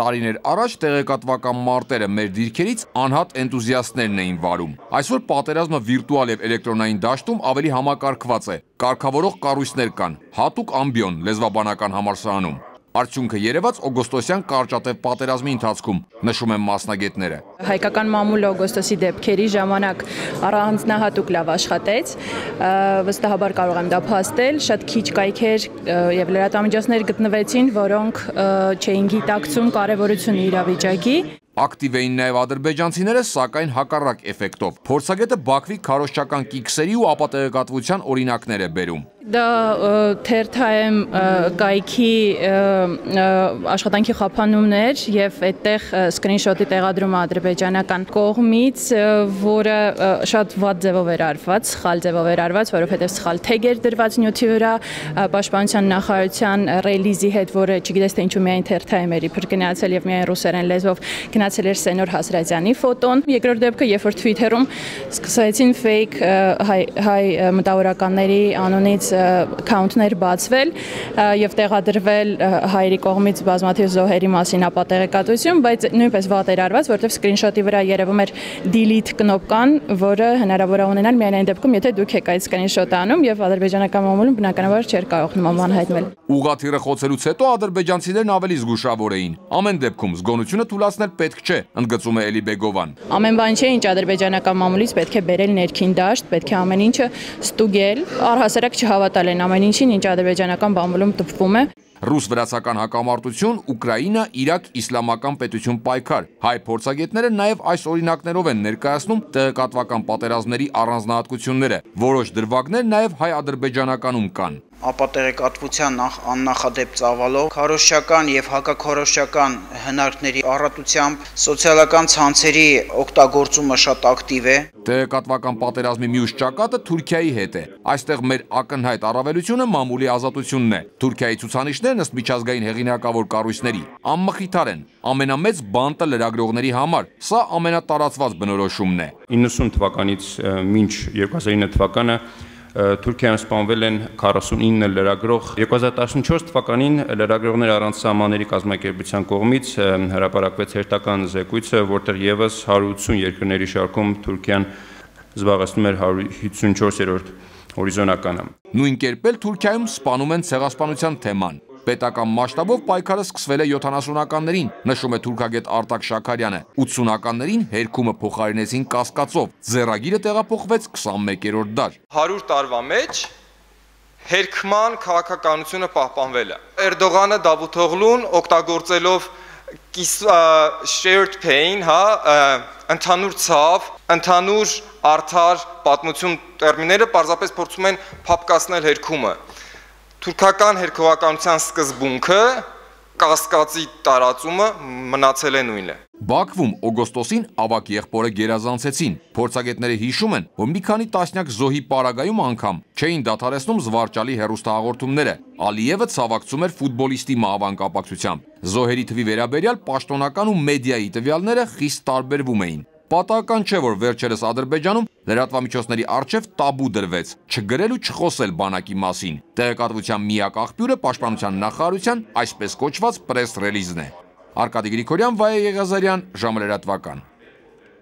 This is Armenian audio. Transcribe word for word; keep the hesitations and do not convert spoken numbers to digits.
Տարիներ առաջ տեղեկատվական մարտերը մեր դիրքերից անհատ էնտուզիաստներն էին վարում։ Այսօր պատերազմը վիրտուալ եւ էլեկտրոնային դաշտում ավելի համակարգված է։ Կարգավորող կառույցներ կան, հատուկ ամբիոն լեզվաբանական համալսարանում։ Արդյունքը երևաց օգոստոսյան կարճատև պատերազմի ընթացքում, նշում են մասնագետները։ Հայկական մամուլը օգոստոսի դեպքերի ժամանակ առանձնահատուկ լավ աշխատեց, վստահաբար կարող եմ դա փաստել, շատ քիչ կայքեր եւ լրատվամիջոցներ գտնվեցին, որոնք չէին գիտակցում կարեւորությունը իրավիճակի։ Ակտիվ էին նաև ադրբեջանցիները, սակայն հակառակ էֆեկտով։ Փորձագետը Բաքվի քարոզչական կիքսերի ու ապատեղեկատվության օրինակներ է բերում։ Դա թերթայեմ կայքի աշխատանքի խափանումներ եւ այդտեղ սկրինշոթի տեղադրումը ադրբեջանական կողմից, որը շատ վատ ձևով էր արված, սխալ ձևով էր արված, որովհետեւ սխալ թեգ էր դրված նյութի վրա, պաշտպանության նախարարության ռելիզի հետ, որը չգիտես թե ինչու միայն թերթայեմ էր իբր գնացել եւ միայն ռուսերեն լեզվով գնացել էր Սենոր Հասրատյանի ֆոտոն։ Երկրորդ դեպքը, երբ որ Twitter-ում սկսեցին fake հայ հայ մտավորականների անունից account-ներ բացվել եւ տեղադրվել հայերի կողմից բազմաթիվ զոհերի մասին ապատեղեկատվություն, բայց նույնպես վատ էր արված, որովհետեւ սկրինշոթի վրա երևում էր delete կնոպկան, որը հնարավոր է ունենալ միայն այն դեպքում, եթե դուք եք այդ սկրինշոթը անում եւ ադրբեջանական մամուլում բնականաբար չէր կարող նման բան հայտնել։ Ուղղաթիռը խոցելուց հետո ադրբեջանցիներն ավելի զգուշավոր էին։ Ամեն դեպքում զգոնությունը թույլատնել պետք չէ, ընդգծում է Էլի Բեգովան։ Ամեն բան չէ, ինչ ադրբեջանական մամուլից պետք է բերել ներքին դաշտ, պետք է ամեն ինչը ստուգել, առհասարակ չհավատալ են ամեն ինչին, ինչ ադրբեջանական մամուլում տպվում է։ Ռուս-վրացական հակամարտություն, Ուկրաինա, Իրաք, իսլամական պետություն պայքար։ Հայ փորձագետները նաև այս օրինակներով են ներկայացնում տեղեկատվական պատերազմների առանձնահատկությունները։ Որոշ դրվագներ նաև հայ-ադրբեջանականում կան։ Ապատեղեկատվության աննախադեպ ծավալով, քարոզչական եւ հակաքարոզչական հնարքների առատությամբ սոցիալական ցանցերի օգտագործումը շատ ակտիվ է։ Տեղեկատվական պատերազմի մյուս ճակատը Թուրքիայի հետ է։ Այստեղ մեր ակնհայտ առավելությունը մամուլի ազատությունն է։ Թուրքիայի ցուցանիշներն ըստ միջազգային հեղինակավոր կառույցների անմխիթար են։ Ամենամեծ բանտը լրագրողների համար։ Սա ամենատարածված բնորոշումն է։ իննսուն թվականից մինչ երկու հազար ինը թվականը Թուրքիայում սպանվել են քառասունինը լրագրող։ երկու հազար տասնչորս թվականին լրագրողներ առանց սահմանների կազմակերպության կողմից հրապարակվեց հերթական զեկույցը, որտեղ եւս հարյուր ութսուն երկրների շարքում Թուրքիան զբաղեցնում էր հարյուր հիսունչորսերորդ հորիզոնականը։ Նույն կերպ էլ Թուրքիայում սպանում են ցեղասպանության թեման։ Պետական մասշտաբով պայքարը սկսվել է յոթանասունականներին, նշում է թուրքագետ Արտակ Շաքարյանը։ ութսունականներին հերքումը փոխարինեցին կասկածով, ձեռագիրը տեղափոխվեց քսանմեկերորդ դար։ հարյուր տարվա մեջ հերքման քաղաքականությունը պահպանվել է։ Էրդողանը, Դավութօղլուն օգտագործելով shared pain, հա, ընդհանուր ցավ, ընդհանուր արդար պատմություն տերմինները պարզապես փորձում են փափկացնել հերքումը։ Թուրքական հերքողականության սկզբունքը, կասկածի տարածումը մնացել է նույնը։ Բաքվում օգոստոսին ավագ եղբորը գերազանցեցին։ Փորձագետները հիշում են, որ մի քանի տասնյակ զոհի պարագայում անգամ չէին դադարեցնում զվարճալի հեռուստահաղորդումները։ Ալիևը ցավակցում էր ֆուտբոլիստի մահվան կապակցությամբ։ Զոհերի թվի վերաբերյալ պաշտոնական ու մեդիայի տվյալները խիստ տարբերվում էին։ Պատահական չէ, որ վերջերս Ադրբեջանում լրատվամիջոցների առջև տաբու դրվեց չգրել ու չխոսել բանակի մասին։ Տեղեկատվության միակ աղբյուրը պաշտպանության նախարարության այսպես կոչված պրես ռելիզն է։ Արկադի Գրիգորյան, Վայե Եղիազարյան, ժամը լրատվական։